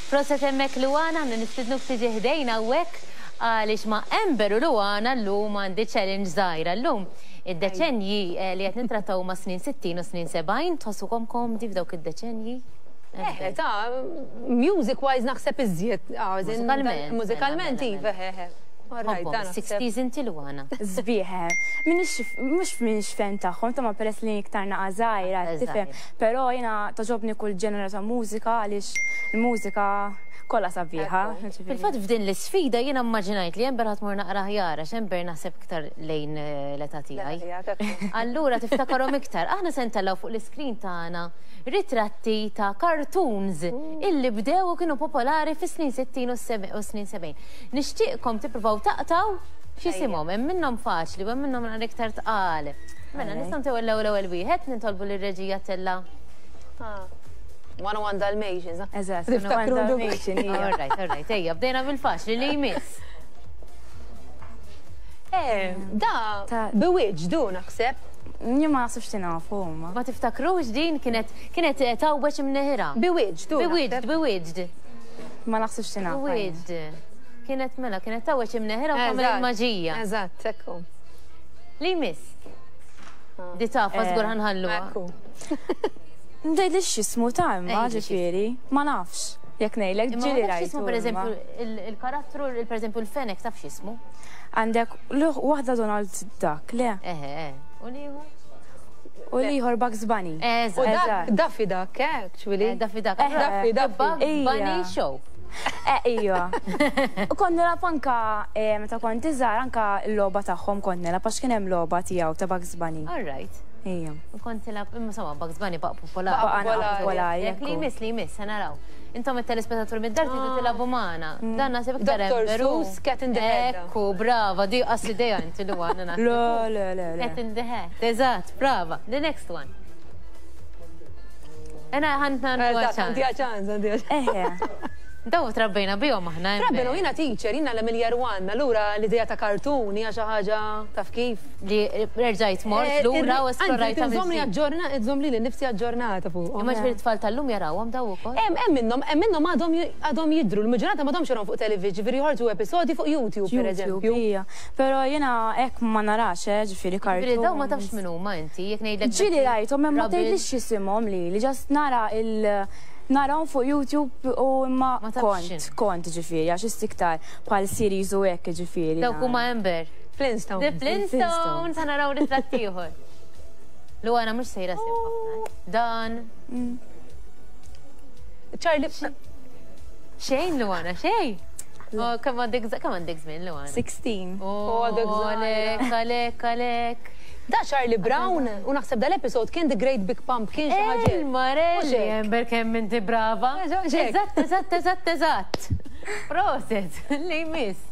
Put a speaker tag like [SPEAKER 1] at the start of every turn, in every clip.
[SPEAKER 1] Proset hemmhekk Luana, aħna nistidnuk tiġi ħdejna hawnhekk għaliex ma' Amber u Luana llum għandi challenge żgħira. Llum id-deċennji eh, li qed nittrattaw huma snin 60 u snin 70, tħossukom komdi f'dawk id-deċennji?
[SPEAKER 2] Eh, ta' music wise naħseb iżjed. Ah,
[SPEAKER 1] mużikalment.
[SPEAKER 2] Mużikalment, iva, eh, eh.
[SPEAKER 1] Alright, 60s inti Luana.
[SPEAKER 3] Sbieħ, eh. Mhux minix fan tagħhom, ta' ma peress li iktar naqa' żgħira, tifhem. Però jiena togħġobni kull ġenera ta' mużika għaliex il-mużika kollha sabiħa.
[SPEAKER 1] Fil-fatt f'din l-isfida jiena mmaġinajt li Amber ħa tmur naqra aħjar għax Amber naħseb iktar lejn eh, l-età tiegħi. Allura tiftakarhom iktar. Aħna se ntellgħu fuq l-iskrin tagħna ritratti ta' cartoons illi bdew u kienu popolari fis-snin 60 u snin 70. Nixtieqkom tippruvaw taqtaw x'isimhom, hemm minnhom faċli u hemm minnhom naqra iktar tqal. Mela, nistgħu ntew l-ewwel ewwel wieħed, nitolbu lir-reġija tella.
[SPEAKER 2] Ah. 101 Dalmatians.
[SPEAKER 3] Eżatt, 101 Dalmatian.
[SPEAKER 1] All right, all right, ejja, bdejna bil-faċli li jmiss.
[SPEAKER 2] Eh, da, Bewitched, du naħseb.
[SPEAKER 3] Jien ma naħsibx li nafu huma.
[SPEAKER 1] Ma tiftakrux din kienet kienet eh, tawweċ imneħira.
[SPEAKER 2] Bewitched, du.
[SPEAKER 1] Bewitched, Bewitched.
[SPEAKER 3] Ma naħsibx li nafu.
[SPEAKER 1] Bewitched. Kienet mela, kienet tawweċ imneħira u tagħmel il-maġija.
[SPEAKER 2] Eżatt, ekku.
[SPEAKER 1] Li jmiss. Di tafa żgur eh, ħanħalluha.
[SPEAKER 2] Ekku.
[SPEAKER 3] Ngħidli x'ismu ta' imma ġifieri, ma nafx. Jekk ngħidlek ġieli rajt.
[SPEAKER 1] X'ismu pereżempju il-karattru, pereżempju l-fenek taf x'ismu?
[SPEAKER 3] Għandek waħda Donald Duck, le?
[SPEAKER 1] Eħe, u l-ieħor?
[SPEAKER 3] U l-ieħor Bugs Bunny.
[SPEAKER 2] Eżatt. Daffy Duck, eh, actually.
[SPEAKER 1] Eh, Daffy Duck.
[SPEAKER 2] Daffy Duck.
[SPEAKER 1] Bugs Bunny Show.
[SPEAKER 3] Eh, ija. U kont nilgħab anka eh, meta kont iżgħar anka l-logħba tagħhom kont nilgħab għax kien hemm logħba tiegħu ta' Bugs Bunny.
[SPEAKER 1] All right.
[SPEAKER 3] Ija.
[SPEAKER 1] U kont tilgħab, imma insomma Bugs Bunny baqa' popolari.
[SPEAKER 3] Baqa' popolari.
[SPEAKER 1] Jekk li jmiss li jmiss, se naraw. Intom it-telespettatur mid-dar tridu ah. tilagħbu magħna. Mm. Dan naħseb iktar
[SPEAKER 2] Dr. Seuss, Cat in the Hat.
[SPEAKER 1] Ekku, brava, di qas idea inti li għandna.
[SPEAKER 3] Le, le, le.
[SPEAKER 1] Cat in the Hat. Eżatt, brava. The next one. Ena ħantna
[SPEAKER 2] għandi ċans, għandi
[SPEAKER 3] ċans.
[SPEAKER 1] Daw trabbejna bihom aħna.
[SPEAKER 2] Trabbejna jiena teacher, jiena l-Emilia Rwan, allura l-idea ta' kartun hija xi ħaġa taf kif.
[SPEAKER 1] Li rġajt mort eh, lura u esplorajt.
[SPEAKER 2] Nżomm li aġġorna, nżomm li nifsi aġġornata fuq.
[SPEAKER 1] Imma ġifieri tfal tal-lum jarawhom daw ukoll.
[SPEAKER 2] Hemm hemm minnhom, hemm minnhom għadhom għadhom jidhru, l-maġġoranza m'għadhomx jarahom fuq television, ġifieri joħorġu episodji fuq YouTube pereżempju.
[SPEAKER 3] Hija. Però jiena hekk ma narax, eh, ġifieri kartun.
[SPEAKER 1] Ġifieri dawn ma tafx min huma inti, jekk ngħidlek.
[SPEAKER 3] Ġieli rajthom imma tgħidlix x'isimhom lili, just nara il narahom fuq YouTube u imma kont, kont ġifieri għax issa iktar bħal series u hekk ġifieri.
[SPEAKER 1] Dawk huma Amber.
[SPEAKER 2] Flintstones.
[SPEAKER 1] The Flintstones, ħa naraw ritratt ieħor. Luana mhux sejra sew ħafna. Eh. Dan.
[SPEAKER 3] Mm.
[SPEAKER 2] Charlie.
[SPEAKER 1] Xejn Luana, xejn. Oh, kemm għandek kemm għandek żmien Luana?
[SPEAKER 3] 16.
[SPEAKER 1] Oh, għandek Għalek, għalek, għalek.
[SPEAKER 2] Da Charlie Brown, u naħseb dal-episod kien The Great Big Pump, kien xi ħaġa.
[SPEAKER 1] Il-Marelli, Amber kemm inti brava. Eżatt, eżatt, eżatt, eżatt. Proset, li jmiss.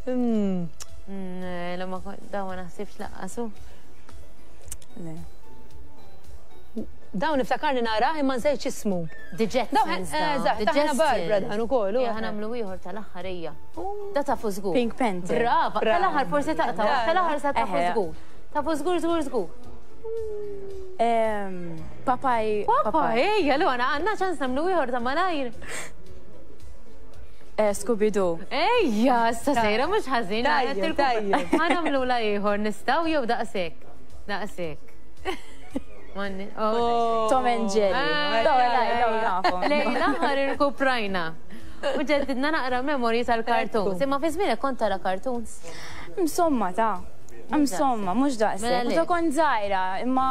[SPEAKER 2] Mm.
[SPEAKER 1] Mm, la ma daw ma naħsibx laqqasu.
[SPEAKER 3] Le.
[SPEAKER 2] Dawn niftakarni narah imma nsejt x'ismu.
[SPEAKER 1] The Jetsons.
[SPEAKER 2] Eżatt, ta' Hanna Barbara dan ukoll.
[SPEAKER 1] Ejja ħa nagħmlu ieħor tal-aħħar ejja. Da tafu żgur.
[SPEAKER 3] Pink Panther.
[SPEAKER 1] Brava, tal-aħħar forsi taqta' tal-aħħar sa tafu żgur. Tafu żgur żgur żgur.
[SPEAKER 3] Popeye.
[SPEAKER 1] Popeye, ejja, Luana, għandna ċans nagħmlu ieħor ta' malajr.
[SPEAKER 3] Eh, Scooby-Doo.
[SPEAKER 1] Ejja, issa sejra mhux ħażin.
[SPEAKER 2] Tajjeb, tajjeb.
[SPEAKER 1] Ħa nagħmlu la ieħor nistgħu jew daqshekk. Daqshekk.
[SPEAKER 3] Oh. Tom and Jerry.
[SPEAKER 1] Ah, Lejn l-aħħar irkuprajna. U ġeddidna naqra memorji tal-cartoons. Imma fi żmienek kont tara cartoons?
[SPEAKER 3] Insomma ta' Insomma, mhux daqshekk.
[SPEAKER 1] Mela
[SPEAKER 3] Meta kont żgħira, imma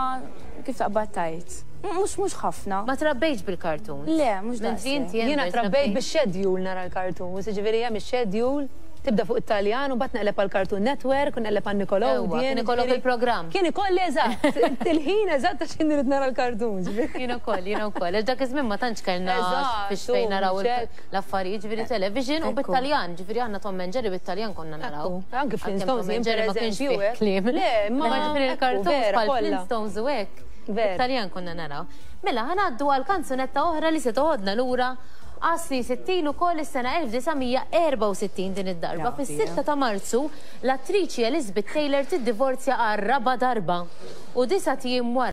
[SPEAKER 3] kif taqbad tajt. Mhux mhux ħafna.
[SPEAKER 1] Ma trabbejtx bil-cartoons?
[SPEAKER 3] Le, mhux daqshekk.
[SPEAKER 2] Jiena trabbejt bix-schedule nara l-cartoons, jiġifieri hemm ix-schedule tibda fuq it-Taljan u mbagħad neqleb għal Cartoon Network u neqleb għal Nickelodeon.
[SPEAKER 1] Kien ikollok il-programm.
[SPEAKER 2] Kien ikolli eżatt, il-ħin eżatt għax jien irid nara l-cartoons.
[SPEAKER 1] Jien ukoll, jien ukoll. Għax dak iż-żmien ma tantx kellna fiex fejn naraw l-affarijiet, ġifieri television u bit-Taljan, ġifieri aħna Tom and Jerry bit-Taljan konna naraw.
[SPEAKER 2] Anke Flintstones,
[SPEAKER 1] Tom and Jerry ma kienx fih kliem.
[SPEAKER 2] Le,
[SPEAKER 1] ma ġifieri l-cartoons bħal Flintstones u hekk. Bit-Taljan konna naraw. Mela, ħa ngħaddu għal kanzunetta oħra li se toħodna lura għas-snin 60 ukoll is-sena 1964 din id-darba. Fis-6 ta' Marzu, l-attriċi Elizabeth Taylor tiddivorzja għar-raba' darba u disat ijiem wara.